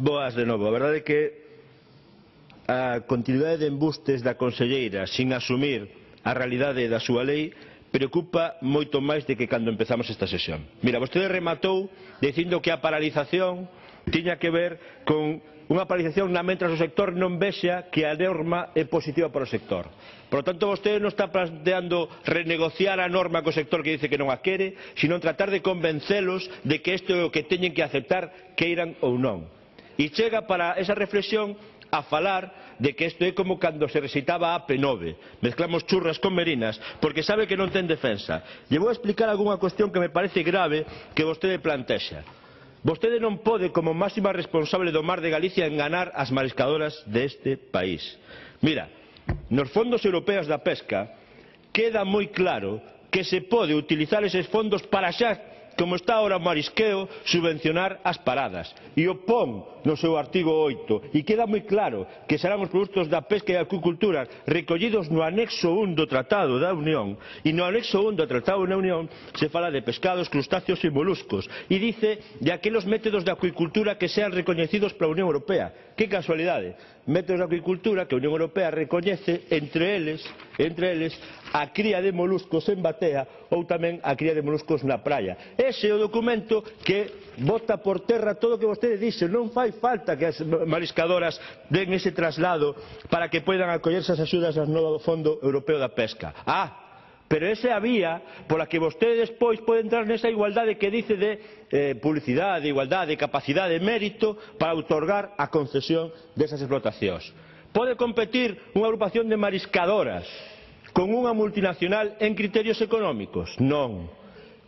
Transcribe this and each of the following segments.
Boas de novo. A verdade é que a continuidade de embustes da conselleira sin asumir a realidade da súa lei preocupa moito máis de que cando empezamos esta sesión. Mira, vostede rematou dicindo que a paralización tiña que ver con unha paralización mentras o sector non vexa que a norma é positiva para o sector. Por lo tanto, vostede non está planteando renegociar a norma co sector que dice que non a quere, sino tratar de convencelos de que isto é o que teñen que aceptar, queiran ou non. E chega para esa reflexión a falar de que isto é como cando se recitaba a P9, mezclamos churras con merinas, porque sabe que non ten defensa. Lle vou explicar algunha cuestión que me parece grave que vostede plantexa. Vostede non pode, como máxima responsable do Mar de Galicia, enganar as mariscadoras deste país. Mira, nos fondos europeos da pesca queda moi claro que se pode utilizar eses fondos para xa, como está ahora o marisqueo, subvencionar as paradas. E o pon no seu artigo 8. E queda moi claro que serán os produtos da pesca e da acuicultura recollidos no anexo 1 do Tratado da Unión. E no anexo 1 do Tratado da Unión se fala de pescados, crustáceos e moluscos. E dice de aqueles métodos de acuicultura que sean recoñecidos pola Unión Europea. Que casualidade. Métodos de acuicultura que a Unión Europea recoñece entre eles a cría de moluscos en batea ou tamén a cría de moluscos na praia. Ese é o documento que bota por terra todo o que vostede dixe. Non fai falta que as mariscadoras den ese traslado para que poidan acollerse as axudas do novo Fondo Europeo da Pesca. Pero esa é a vía pola que vostede despois pode entrar nesa igualdade que dice de publicidade, igualdade, capacidade, mérito para outorgar a concesión desas explotacións. Pode competir unha agrupación de mariscadoras con unha multinacional en criterios económicos? Non.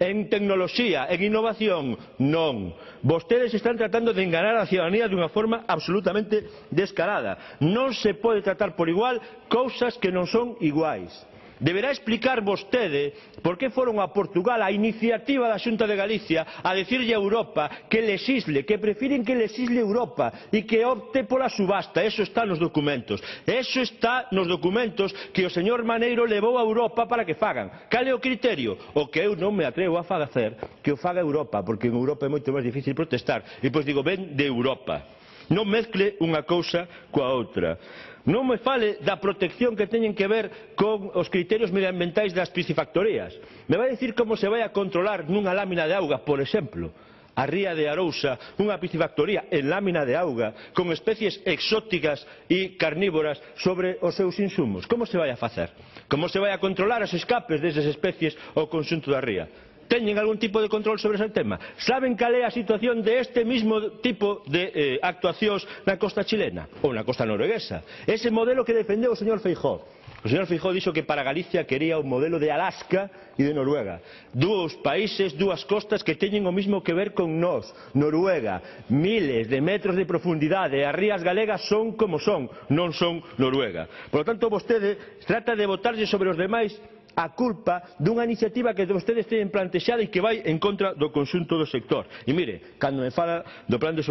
En tecnoloxía, en innovación? Non. Vostedes están tratando de enganar a ciudadanía dunha forma absolutamente descarada. Non se pode tratar por igual cousas que non son iguais. Deberá explicar vostede por que foron a Portugal a iniciativa da Xunta de Galicia a decirlle a Europa que lexisle, que prefiren que lexisle Europa e que opte pola subasta. Eso está nos documentos. Eso está nos documentos que o señor Maneiro levou a Europa para que fagan. Cal é o criterio? O que eu non me atrevo a facer, que o faga Europa, porque en Europa é moito máis difícil protestar. E pois digo, ven de Europa. Non mezcle unha cousa coa outra. Non me fale da protección que teñen que ver con os criterios medioambientais das piscifactorías. Me vai dicir como se vai a controlar nunha lámina de auga, por exemplo, a ría de Arousa, unha piscifactoría en lámina de auga, con especies exóticas e carnívoras sobre os seus insumos. Como se vai a facer? Como se vai a controlar os escapes desas especies ao conxunto da ría? Teñen algún tipo de control sobre ese tema? Saben cal é a situación de este mismo tipo de actuacións na costa chilena ou na costa norueguesa? Ese modelo que defendeu o señor Feijóo. O señor Feijóo dixo que para Galicia quería o modelo de Alaska e de Noruega. Dous países, dúas costas que teñen o mismo que ver con nós. Noruega, miles de metros de profundidade, as rías galegas son como son, non son Noruega. Por lo tanto, vostede trata de botarlle sobre os demais a culpa dunha iniciativa que vostedes teñen plantexada e que vai en contra do conxunto do sector. E mire, cando me fala do plan de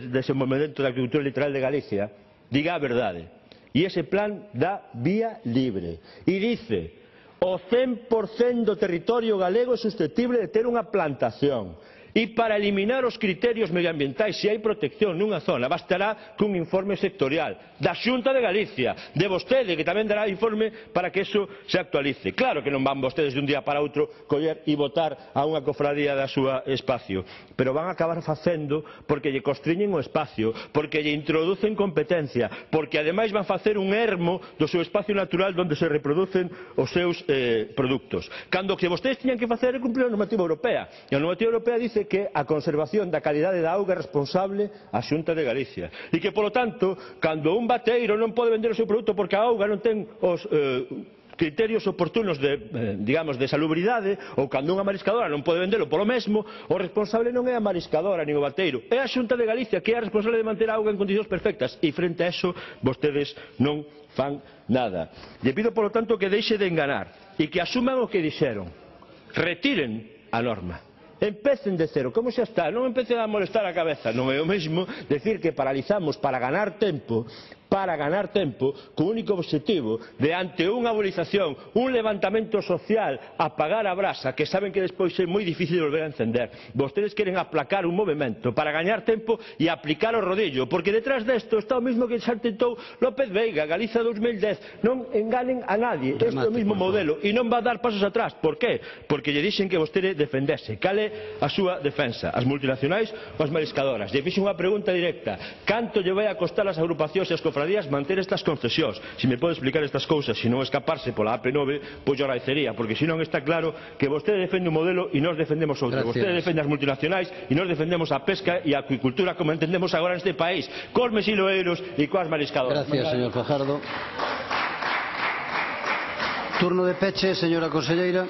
desenvolvemento da agricultura litoral de Galicia, diga a verdade. E ese plan dá vía libre. E dice, o 100% do territorio galego é susceptible de ter unha plantación. E para eliminar os criterios medioambientais, se hai protección nunha zona, bastará cun informe sectorial da Xunta de Galicia, de vostede, que tamén dará informe para que eso se actualice. Claro que non van vostedes de un día para outro coller e votar a unha cofradía da súa espacio, pero van a acabar facendo porque lle constriñen o espacio, porque lle introducen competencia, porque ademais van facer un ermo do seu espacio natural onde se reproducen os seus produtos. Cando o que vostedes tiñan que facer é cumprir a normativa europea, e a normativa europea dice que a conservación da calidade da auga é responsable a Xunta de Galicia e que, polo tanto, cando un bateiro non pode vender o seu produto porque a auga non ten os criterios oportunos de salubridade, ou cando unha mariscadora non pode vendelo polo mesmo, o responsable non é a mariscadora nin o bateiro, é a Xunta de Galicia, que é a responsable de manter a auga en condicións perfectas, e frente a eso vostedes non fan nada. Lle pido, polo tanto, que deixe de enganar e que asuman o que dixeron. Retiren a norma. Empecen de cero, como xa está, non empecen a molestar a cabeza. Non é o mesmo decir que paralizamos para ganar tempo para ganar tempo, co único objetivo de, ante unha movilización, un levantamento social, apagar a brasa, que saben que despois é moi difícil de volver a encender. Vostedes queren aplacar un movimento para gañar tempo e aplicar o rodillo, porque detrás desto está o mismo que xa tentou López Veiga, Galiza 2010. Non enganen a nadie, este é o mismo modelo e non va a dar pasos atrás. Por qué? Porque lle dixen que vostede defendese. Cal é a súa defensa? As multinacionais ou as mariscadoras? Lle fixen unha pregunta directa: canto lle vai a costar as agrupacións e as cofradías manter estas concesións? Se me pode explicar estas cousas, se non escaparse pola AP9, pois yo agradecería, porque senón está claro que vostede defende un modelo e nós defendemos outro. Vostede defende as multinacionais e nós defendemos a pesca e a acuicultura como entendemos agora neste país, cos mesiloeiros e coas mariscadoras. Gracias, señor Fajardo. Turno de peche, señora conselleira.